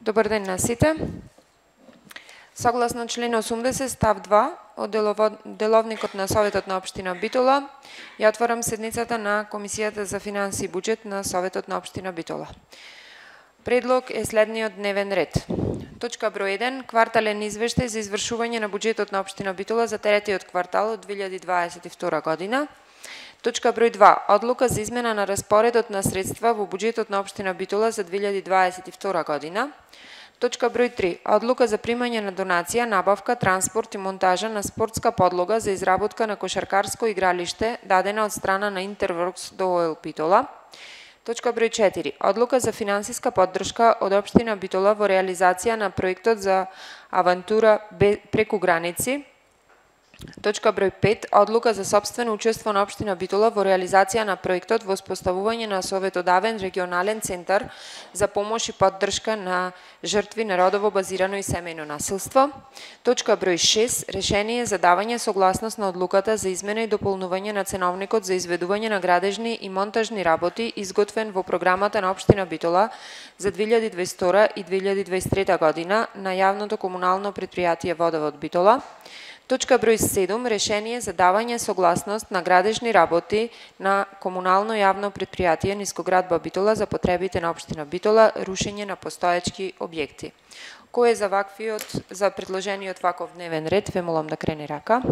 Добар ден на сите. Согласно член 80 став 2 од Деловникот на Советот на Општина Битола, ја отварам седницата на Комисијата за финансии и буџет на Советот на Општина Битола. Предлог е следниот дневен ред. Точка број 1. Квартален извештај за извршување на буџетот на Општина Битола за третиот квартал од 2022 година. Точка број 2. Одлука за измена на распоредот на средства во буџетот на Општина Битола за 2022 година. Точка број 3. Одлука за примање на донација, набавка, транспорт и монтажа на спортска подлога за изработка на кошаркарско игралиште дадена од страна на Интерворкс ДОО Битола. Точка број 4. Одлука за финансиска поддршка од Општина Битола во реализација на проектот за авантура преку граници. Точка број 5. Одлука за сопствено учество на Општина Битола во реализација на проектот во споставување на советодавен регионален центар за помош и поддршка на жртви на родово базирано и семејно насилство. Точка број 6. Решение за давање согласност на одлуката за измена и дополнување на ценовникот за изведување на градежни и монтажни работи изготвен во програмата на Општина Битола за 2022 и 2023 година на јавното комунално претпријатие Водовод Битола. Точка број 7. Решение за давање согласност на градежни работи на комунално јавно претпријатие Нискоградба Битола за потребите на Општина Битола, рушење на постоечки објекти. Кој е за предложениот ваков дневен ред? Ве молам да крене рака.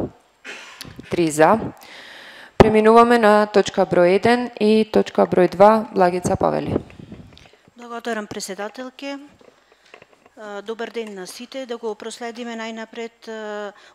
3 за. Преминуваме на точка број 1 и точка број 2. Благица Повели. Благодарам, председателке. Добар ден на сите. Да го проследиме најнапред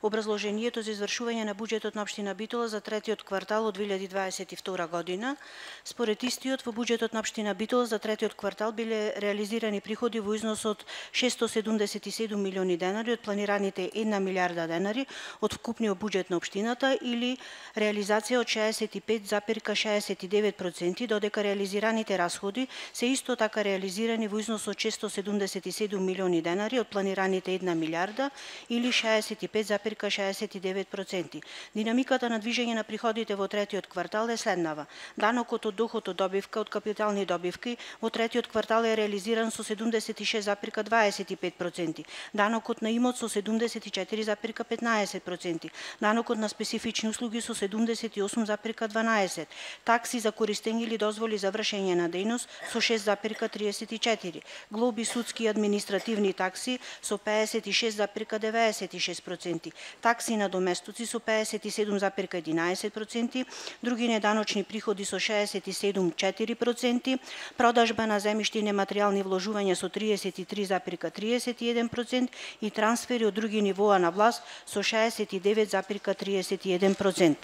образложението за извршување на буџетот на Општина Битола за третиот квартал од 2022 година. Според истиот, во буџетот на Општина Битола за третиот квартал биле реализирани приходи во износ од 677 милиони денари од планираните 1 милиарда денари од вкупниот буџет на општината или реализација од 65,69%, додека реализираните расходи се исто така реализирани во износ од 677 милиони денари од планираните 1 милиарда или 65,69%. Динамиката на движење на приходите во третиот квартал е следнава. Данокот од доход од добивка од капитални добивки во третиот квартал е реализиран со 76,25%, данокот на имот со 74,15%, данокот на специфични услуги со 78,12%, такси за користење или дозволи за вршење на дејност со 6,34%, глоби, судски и административни такси со 56,96%, такси на доместоци со 57,11%, други неданочни приходи со 67,4%, продажба на земјишти и нематеријални вложувања со 33,31% и трансфери од други нивоа на власт со 69,31%.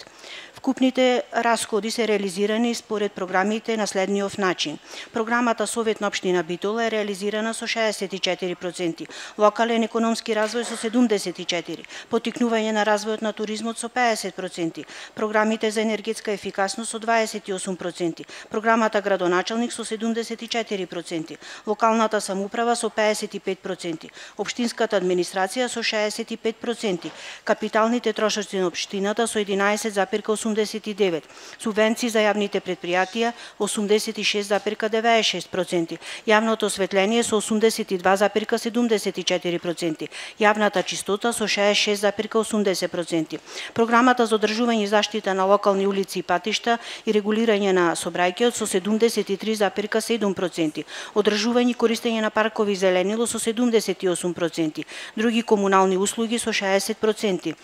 Вкупните расходи се реализирани според програмите на следниот начин. Програмата Совет на Општина Битола е реализирана со 64%, локален економски развој со 74%, поттикнување на развојот на туризмот со 50%, програмите за енергетска ефикасност со 28%, програмата градоначалник со 74%, локалната самоуправа со 55%, општинската администрација со 65%, капиталните трошоци на општината со 11,89%, субвенции за јавните претпријатија 86,96%, јавното осветление со 82,74%, јавната чистота со 66,80%, програмата за одржување и заштита на локални улици и патишта и регулирање на сообраќајот со 73,7%, одржување и користење на паркови и зеленило со 78%, други комунални услуги со 60%,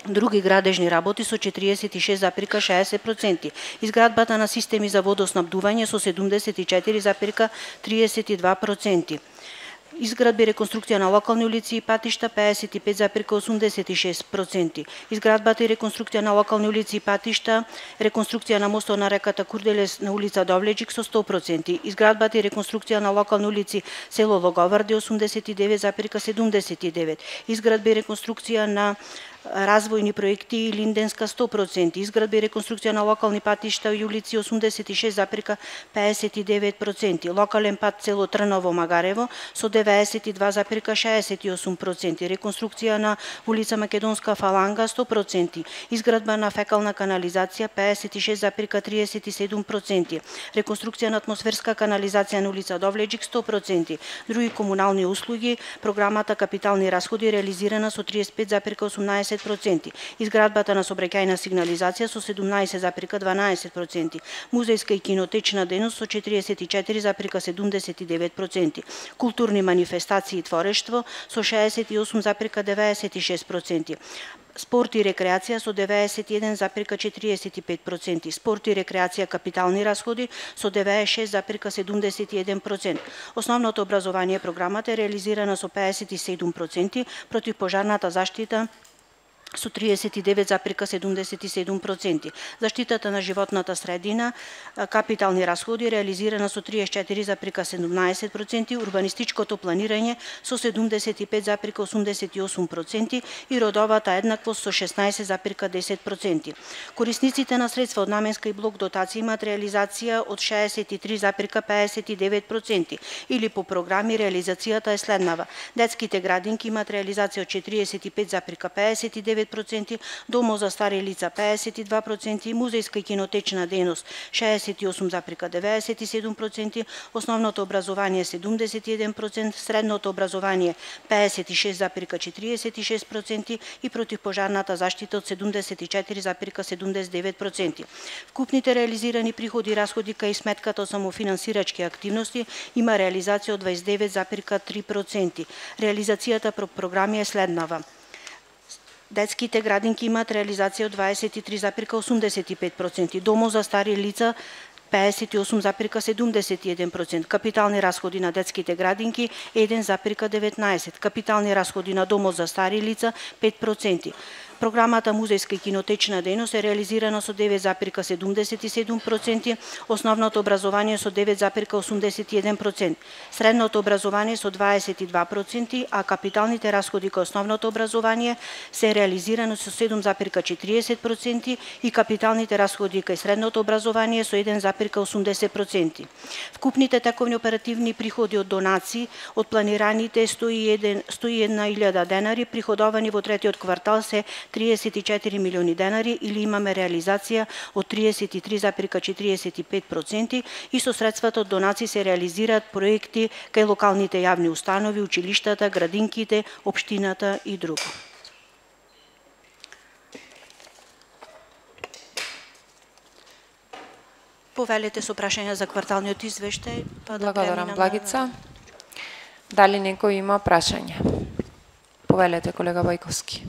други градежни работи со 46,60%, изградбата на системи за водоснабдување со 74,32%, изградби и реконструкција на локални улици и патишта 55,86%, изградбата и реконструкција на локални улици и патишта, реконструкција на мостот на реката Курделес на улица Довлеџик со 100%, изградбата и реконструкција на локални улици село Логоварди 89,79%, изградба и реконструкција на развојни проекти Линденска 100%, изградба и реконструкција на локални патишта и улици 86,59%, локален пат село Трново Магарево со 92,68%, реконструкција на улица Македонска фаланга 100%, изградба на фекална канализација 56,37%, реконструкција на атмосферска канализација на улица Довлеџик 100%, други комунални услуги, програмата капитални расходи реализирана со 35,18%, изградбата на сообраќајна сигнализација со 17,12%, музејска и кинотечна дејност со 44,79%, културни манифестации и творештво со 68,96%, спорт и рекреација со 91,45%, спорт и рекреација капитални расходи со 96,71%. Основното образование програмата е реализирана со 57%, противпожарната заштита со 39,77%. Заштитата на животната средина, капитални расходи реализирана со 34,17%, урбанистичкото планирање со 75,88% и родовата еднаквост со 16,10%. Корисниците на средства од наменска и блок дотација имаат реализација од 63,59% или по програми реализацијата е следнава. Детските градинки имаат реализација од 45,59%, домо за стари лица 52%, музејска и кинотечна дејност 68,97%, основното образование 71%, средното образование 56,46% и противпожарната заштита од 74,79%. Вкупните реализирани приходи и расходи кај сметката од самофинансирачки активности има реализација од 29,3%. Реализацијата по програми е следнава. Детските градинки имаат реализација од 23,85%, домо за стари лица 58,71%, капитални расходи на детските градинки 1,19%, капитални расходи на домо за стари лица 5%. Програмата музејска и кинотечна дејност е реализирана со 9,77%, основното образование со 9,81%, средното образование со 22%, а капиталните расходи кај основното образование се реализирани со 7,40% и капиталните расходи кај средното образование со 1,80%. Вкупните тековни оперативни приходи од донации од планираните 101.000 денари приходовани во третиот квартал се 34 милиони денари или имаме реализација од 33,45% и со средствата од донации се реализираат проекти кај локалните јавни установи, училиштата, градинките, општината и друго. Повелете со прашања за кварталниот извештај, па да Благодарам, Благица. Дали некој има прашање? Повелете, колега Бајковски.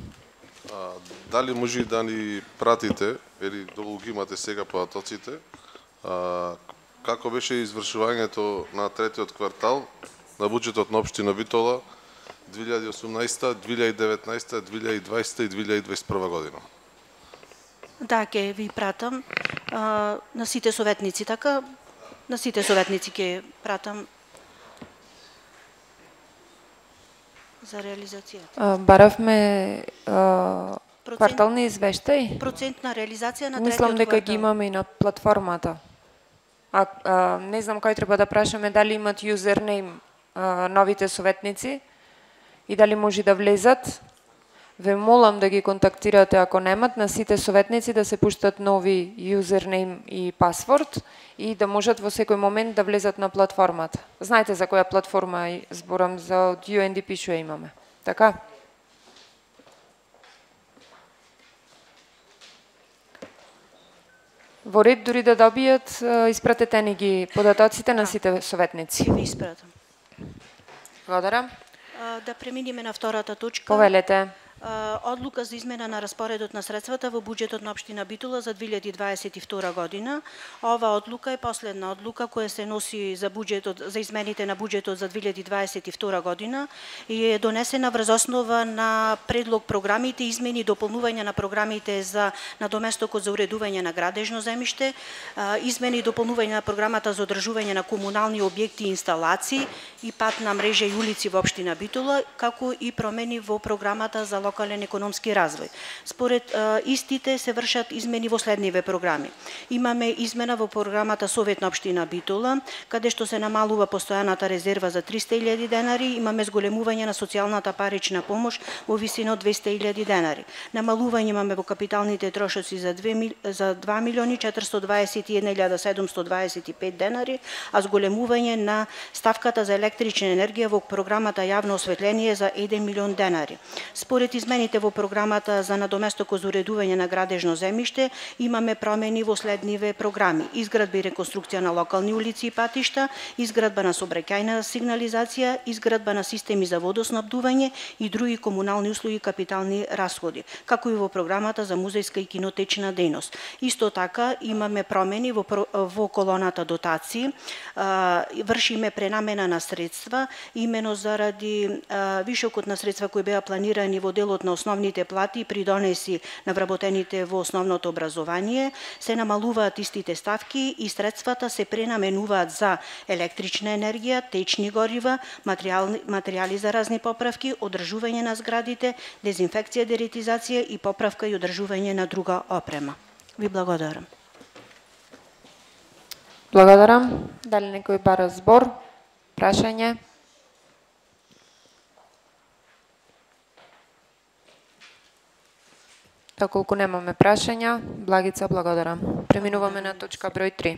Дали може да ни пратите, или долу ги имате сега податоците, како беше извршувањето на третиот квартал на буџетот на општина Битола 2018, 2019, 2020 и 2021 година? Да, ќе ви пратам на сите советници, така? На сите советници ќе пратам за реализацијата. Баравме квартални извештај? Процент на реализација на третиот Мислам дека квартал. ги имаме и на платформата. Не знам кој треба да прашаме дали имат юзернейм новите советници и дали може да влезат. Ве молам да ги контактирате ако немат на сите советници да се пуштат нови юзернейм и пасворд и да можат во секој момент да влезат на платформата. Знаете за која платформа зборам, за од UNDP што имаме. Така? Во ред дури да добијат, испратете ни ги податоците на сите советници. Ќе ви испратам. Благодарам. Да преминеме на втората точка. Повелете. Одлука за измена на распоредот на средствата во буџетот на општина Битола за 2022 година. Ова одлука е последна одлука која се носи за буџетот, за измените на буџетот за 2022 година и е донесена врз основа на предлог програмите, измени и дополнување на програмите за надоместокот за уредување на градежно земјиште, измени и дополнување на програмата за одржување на комунални објекти и инсталации и патна мрежа и улици во општина Битола, како и промени во програмата за локална локален економски развој. Според истите се вршат измени во следниве програми. Имаме измена во програмата Совет на општина Битола, каде што се намалува постојаната резерва за 300.000 денари, имаме зголемување на социјалната парична помош во висина од 200.000 денари. Намалување имаме во капиталните трошоци за 2.421.725 денари, а зголемување на ставката за електрична енергија во програмата Јавно осветление за 1 милион денари. Според измените во програмата за надоместок за уредување на градежно земјиште, имаме промени во следниве програми: изградба и реконструкција на локални улици и патишта, изградба на сообраќајна сигнализација, изградба на системи за водоснабдување и други комунални услуги и капитални расходи, како и во програмата за музејска и кинотечна дејност. Исто така имаме промени во колоната дотации, вршиме пренамена на средства, имено заради вишокот на средства кои беа планирани во делот на основните плати и придонеси на вработените во основното образование, се намалуваат истите ставки и средствата се пренаменуваат за електрична енергија, течни горива, материјали за разни поправки, одржување на зградите, дезинфекција, деретизација и поправка и одржување на друга опрема. Ви благодарам. Благодарам. Дали некој бара збор? Прашање? Доколку немаме прашања, Благица, благодарам. Преминуваме на точка број 3.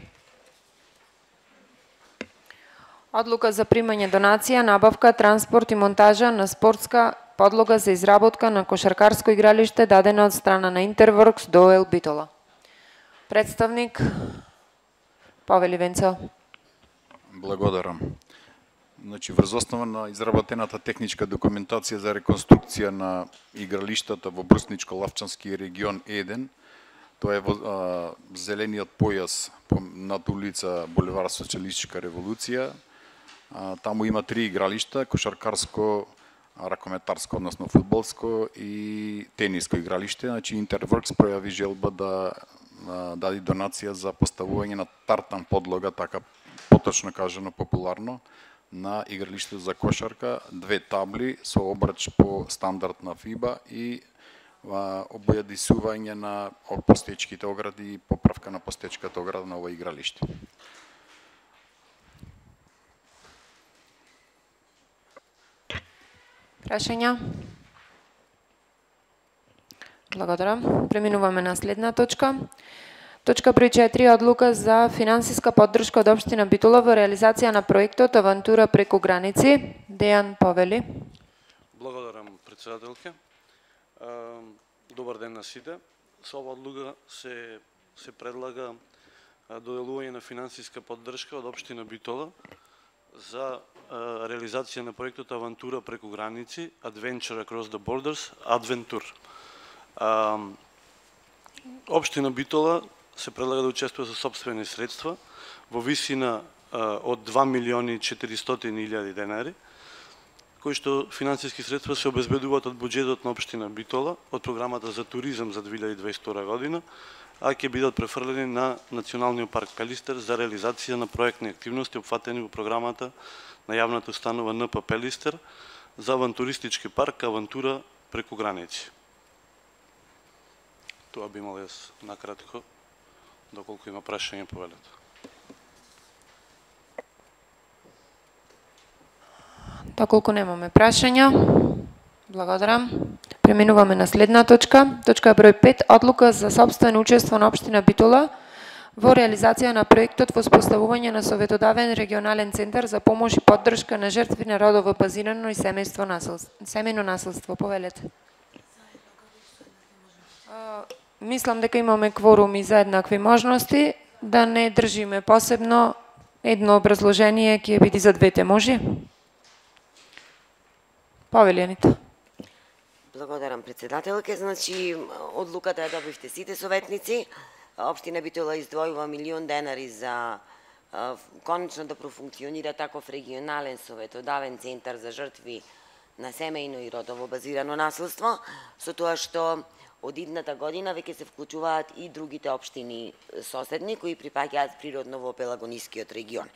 Одлука за примање донација, набавка, транспорт и монтажа на спортска подлога за изработка на кошаркарско игралиште дадена од страна на Интерворкс до ОЛ Битола. Представник Павел Ивенцо. Благодарам. Значи, врз основа на изработената техничка документација за реконструкција на игралиштата во Брусничко-Лавчански регион 1, тоа е во зелениот појас над улица Булевар Социјалистичка револуција. Таму има 3 игралишта: кошаркарско, ракометарско, односно фудбалско и тениско игралиште. Значи, Интерворкс пројави желба да даде донација за поставување на тартан подлога, така поточно кажано популарно, на игралиште за кошарка, 2 табли со обрач по стандард на ФИБА и обојадисување на постечките огради и поправка на постечката ограда на ова игралиште. Прашања? Благодарам. Преминуваме на следна точка. Точка број 4. Одлука за финансиска поддршка од општина Битола во реализација на проектот Авантура преку граници. Дејан Повели. Благодарам, председателке. Добар ден на сите. Со ова одлука се предлага доделување на финансиска поддршка од општина Битола за реализација на проектот Авантура преку граници, Adventure Across the Borders, Adventure. Општина Битола се предлага да учествува со сопствени средства во висина од 2.400.000 денари, кои што финансиски средства се обезбедуваат од буџетот на општина Битола, од програмата за туризам за 2022 година, а ќе бидат префрлени на Националниот парк Пелистер за реализација на проектни активности опфатени во програмата на јавната установа НП Пелистер за авантуристички парк Авантура преку граници. Тоа би имал јас накратко, доколку има прашање по велето. Доколку немаме прашања, благодарам. Преминуваме на следна точка. Точка број 5. Одлука за сопствено учество на општина Битола во реализација на проектот во споставување на советодавен регионален центар за помош и поддршка на жртви на родово базирано и семејно насилство. Повелете. Мислам дека имаме кворум и за еднакви можности, да не држиме посебно едно образложение, ќе биде за двете, може? Повелјанита. Благодарам, председателке. Значи, одлуката ја добивте сите советници. Општина Битола издвојува 1 милион денари за конечно да профункционира таков регионален советодавен центар за жртви на семејно и родово базирано насилство, со тоа што од идната година веќе се вклучуваат и другите општини соседни кои припаѓаат природно во Пелагонискиот регион.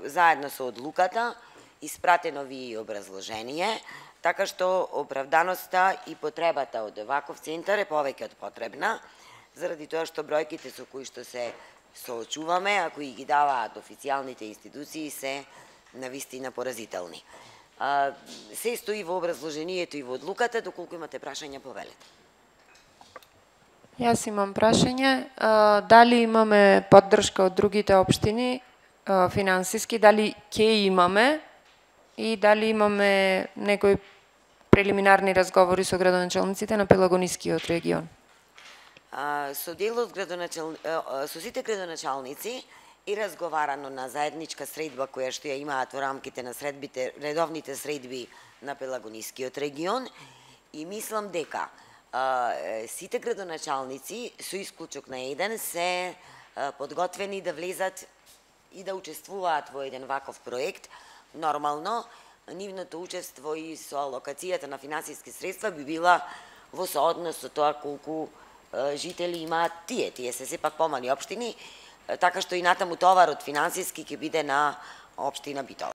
Заедно со одлуката испратено ви и образложение, така што оправданоста и потребата од ваков центар е повеќе од потребна, заради тоа што бројките со кои што се соочуваме, а кои ги даваат официјалните институции, се навистина поразителни. Се стои во образложението и во одлуката, доколку имате прашања, повелете. Јас имам прашање. Дали имаме поддршка од другите општини, финансиски, дали ќе имаме и дали имаме некои прелиминарни разговори со градоначалниците на Пелагонискиот регион? Со со сите градоначалници и разговарано на заедничка средба која што ја имаат во рамките на редовните средби на Пелагонискиот регион, и мислам дека сите градоначалници со исклучок на еден се подготвени да влезат и да учествуваат во еден ваков проект. Нормално, нивното учество и со алокацијата на финансиски средства би била во сооднос со тоа колку жители имаат тие. Тие се сепак помали општини, така што и натаму товарот финансиски ќе биде на општина Битола.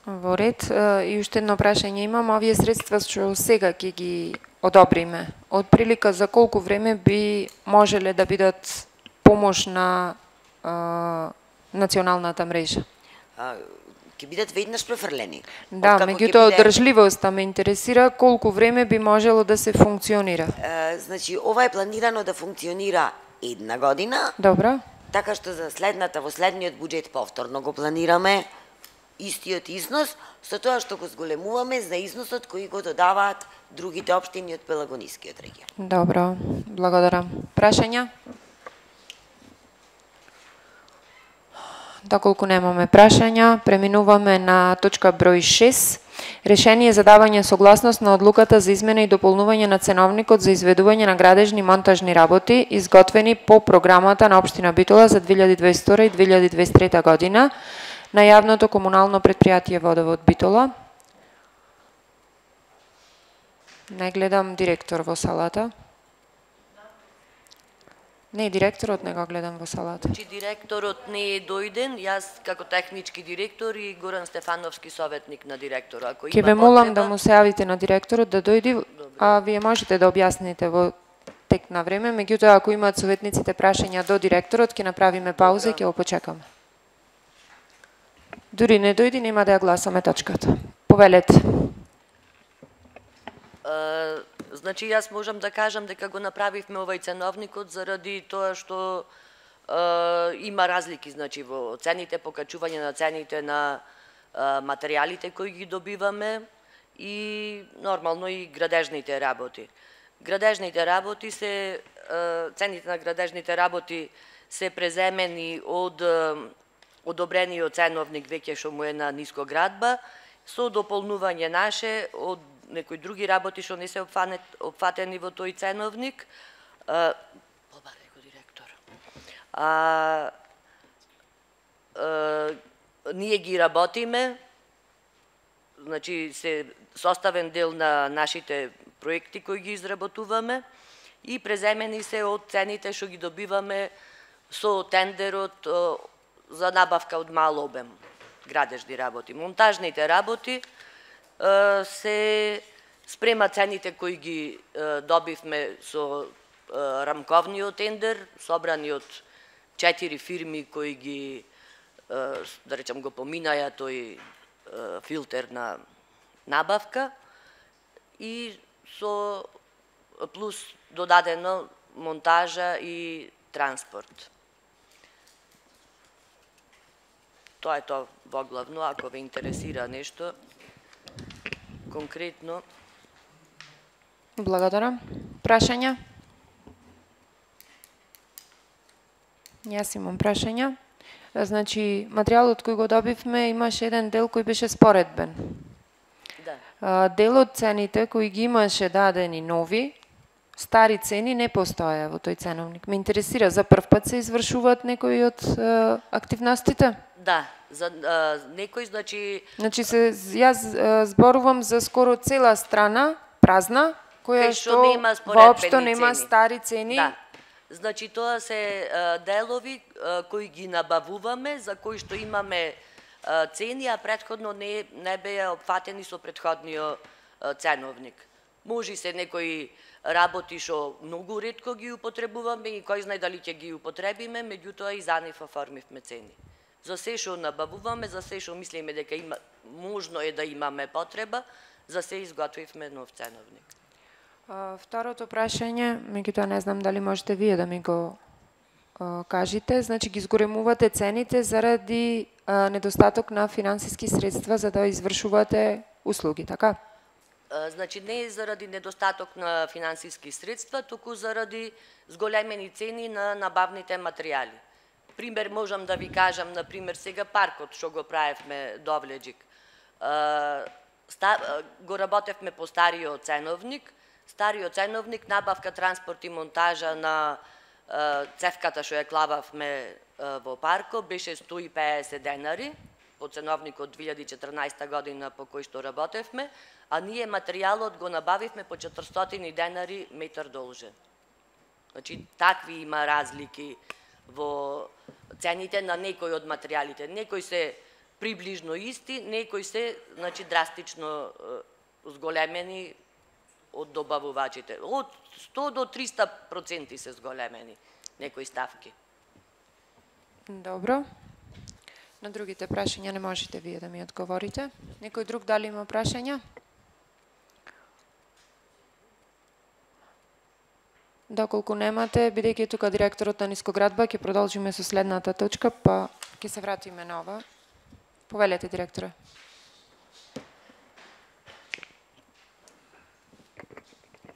Во ред, и уште едно прашање имам. Овие средства што сега ќе ги одобриме, од прилика за колку време би можеле да бидат помош на националната мрежа? Ќе бидат веднаш префрлени. Да, меѓутоа одржливоста ме интересира, колку време би можело да се функционира. Значи, ова е планирано да функционира една година. Добро. Така што за во следниот буџет повторно го планираме истиот износ, со тоа што го зголемуваме за износот кој го додаваат другите општини од Пелагонискиот регион. Добро, благодарам. Прашања? Доколку немаме прашања, преминуваме на точка број 6. Решение за давање согласност на одлуката за измена и дополнување на ценовникот за изведување на градежни монтажни работи, изготвени по програмата на општина Битола за 2022 и 2023 година на јавното комунално предпријатие Водовод Битола. Не гледам директор во салата. Не, директорот не го гледам во салата. Директорот не е дојден, јас како технички директор и Горан Стефановски советник на директора. Ќе ве молам да му се јавите на директорот да дојди, а вие можете да објасните во тек на време, меѓутоа ако имаат советниците прашања до директорот, ќе направиме пауза и ќе го почекаме. Дури не дојди, нема да ја гласаме точката. Повелете. Значи, јас можам да кажам дека го направивме овај ценовникот заради тоа што има разлики, значи, во цените, покачување на цените на материјалите кои ги добиваме и нормално и градежните работи. Градежните работи се, цените на градежните работи се преземени од одобрениот ценовник веќе што му е на нискоградба, со дополнување наше од некои други работи што не се опфатени во тој ценовник. Побаре го директор. Ние ги работиме, значи се составен дел на нашите проекти кои ги изработуваме и преземени се од цените што ги добиваме со тендерот за набавка од мал обем градежни работи. Монтажните работи се спрема цените кои ги добивме со рамковниот тендер, собрани од 4 фирми кои ги, да речам, го поминаја тој филтер на набавка и со плюс додадено монтажа и транспорт. Тоа е тоа во главно, ако ве интересира нешто конкретно. Благодарам. Прашања? Јас имам прашања. Значи, материјалот кој го добивме имаше еден дел кој беше споредбен. Да. Дел од цените кои ги имаше дадени нови, стари цени не постоја во тој ценовник. Ме интересира, за прв пат се извршуваат некои од активностите? Да, за некој, значи... Значи, јас зборувам за скоро цела страна, празна, која што воопшто нема стари цени. Да. Значи, тоа се делови кои ги набавуваме, за кои што имаме цени, а претходно не беа опфатени со претходниот ценовник. Може се некои работи што многу ретко ги употребуваме и кој знае дали ќе ги употребиме, меѓутоа и за нив оформивме цени. За се што набавуваме, за се што мислиме дека можно е да имаме потреба, за се изготвивме нов ценовник. Второто прашање, меѓутоа не знам дали можете вие да ми го кажете, значи ги зголемувате цените заради недостаток на финансиски средства за да извршувате услуги, така? Значи не е заради недостаток на финансиски средства, туку заради зголемени цени на набавните материјали. Пример можам да ви кажам, например сега паркот што го правевме Довлеџик. Го работевме по стариот ценовник. Стариот ценовник, набавка, транспорт и монтажа на цевката што ја клававме во паркот беше 150 денари по ценовникот 2014 година по кој што работевме, а ние материјалот го набавивме по 400 денари метар должен. Значи, такви има разлики во цените на некои од материјалите. Некои се приближно исти, некои се, значи, драстично зголемени од добавувачите. Од 100 до 300% се зголемени некои ставки. Добро. На другите прашања не можете вие да ми одговорите. Некој друг дали има прашања? Доколку немате, бидејќи тука директорот на Нискоградба, ќе продолжиме со следната точка, па ќе се вратиме на ова. Повелете, директоре.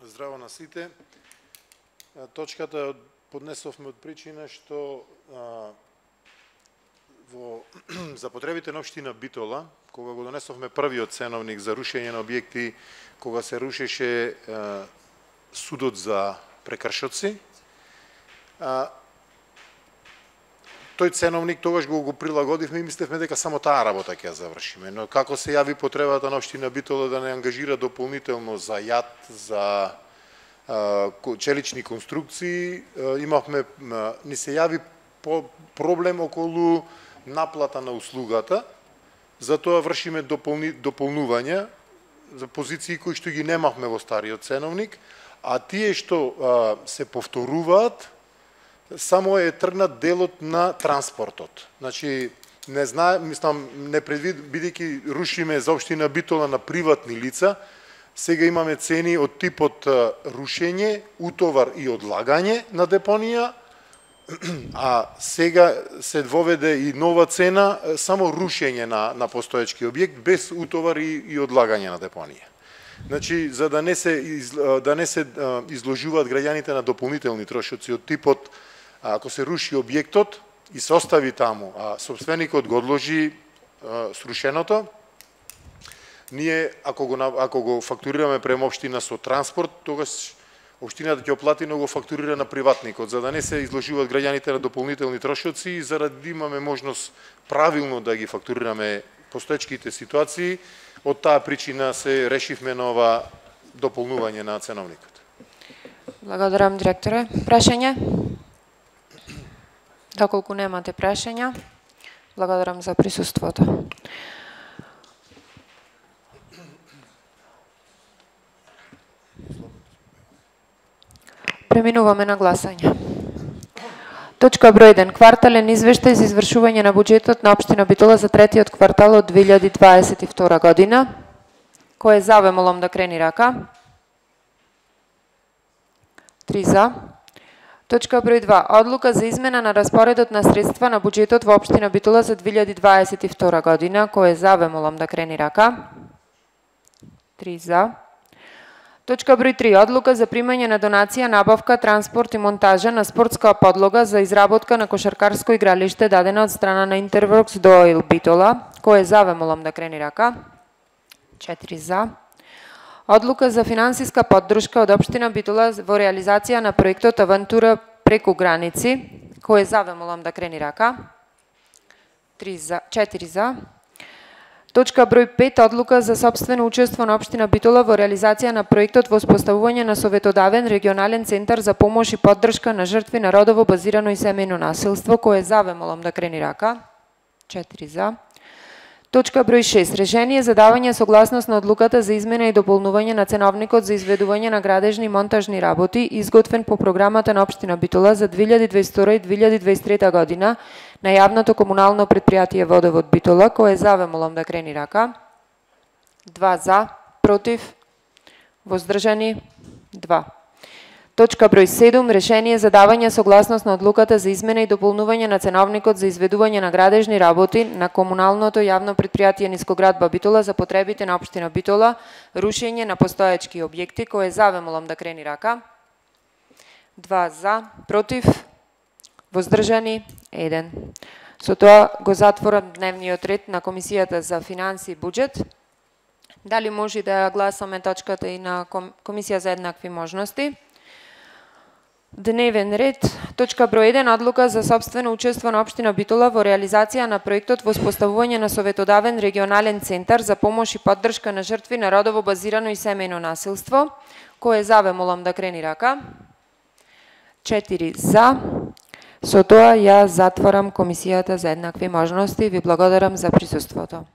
Здраво на сите. Точката поднесовме од причина што за потребите на општина Битола, кога го донесовме првиот ценовник за рушење на објекти, кога се рушеше судот за прекршоци, тој ценовник тогаш го прилагодивме и мислевме дека само таа работа ќе ја завршиме. Но како се јави потребата на општина Битола да не ангажира дополнително за јат, за челични конструкции, ни се јави проблем околу наплата на услугата, затоа вршиме дополнувања за позиции кои што ги немавме во стариот ценовник, а тие што се повторуваат, само е тргнат делот на транспортот. Значи, не знаем, мислам, бидејќи рушиме за општина Битола на приватни лица, сега имаме цени од типот рушење, утовар и одлагање на депонија, а сега се воведе и нова цена, само рушење на постоечки објект, без утовар и одлагање на депонија. Значи, за да не се изложуваат граѓаните на дополнителни трошоци од типот, ако се руши објектот и се остави таму, а собственикот го одложи срушеното, ние, ако го фактурираме према општина со транспорт, тогаш општината ќе оплати, но го фактурира на приватникот, за да не се изложуваат граѓаните на дополнителни трошоци и за да имаме можност правилно да ги фактурираме постоечките ситуации, од таа причина се решивме на ова дополнување на ценовникот. Благодарам, директоре. Прашање? Доколку немате прашања, благодарам за присуството. Преминуваме на гласање. Точка број 1. Квартален извештај за извршување на буџетот на општина Битола за третиот квартал од 2022 година. Кој е за, ве молам да крени рака. 3 за. Точка број 2. Одлука за измена на распоредот на средства на буџетот во општина Битола за 2022 година. Кој е за, ве молам да крени рака. 3 за. Точка број 3. Одлука за примање на донација, набавка, транспорт и монтажа на спортска подлога за изработка на кошаркарско игралиште дадена од страна на Интерворкс до ОИЛ Битола. Кој е за, ве молам да крени рака. 4 за. Одлука за финансиска поддршка од општина Битола во реализација на проектот Авантура преку граници. Кој е за, ве молам да крени рака. 4 за. Точка број 5. Одлука за сопствено учество на општина Битола во реализација на проектот во успоставување на советодавен регионален центар за помош и поддршка на жртви на родово базирано и семејно насилство. Кој е за, ве молам да крени рака. 4 за. Точка број 6. Решение за давање согласност на одлуката за измена и дополнување на ценовникот за изведување на градежни и монтажни работи, изготвен по програмата на општина Битола за 2022 и 2023 година на јавното комунално предпријатие Водовод Битола, кој е за, ве молам да крени рака. 2 за, против, воздржани, 2. Точка број 7. Решение за давање согласност на одлуката за измена и дополнување на ценовникот за изведување на градежни работи на комуналното јавно предпријатие Нискоградба Битола за потребите на општина Битола, рушење на постоечки објекти, кој е за, ве молам да крени рака. 2 за, против, воздржани, 1. Со тоа го затворам дневниот ред на Комисијата за финанси и буџет. Дали може да гласаме точката и на Комисија за еднакви можности? Дневен ред. Точка број 1. Одлука за сопствено учество на општина Битола во реализација на проектот во споставување на советодавен регионален центар за помош и поддршка на жртви на родово базирано и семејно насилство. Кој е за, ве молам да крени рака. 4 за. Со тоа ја затворам Комисијата за еднакви можности. Ви благодарам за присуството.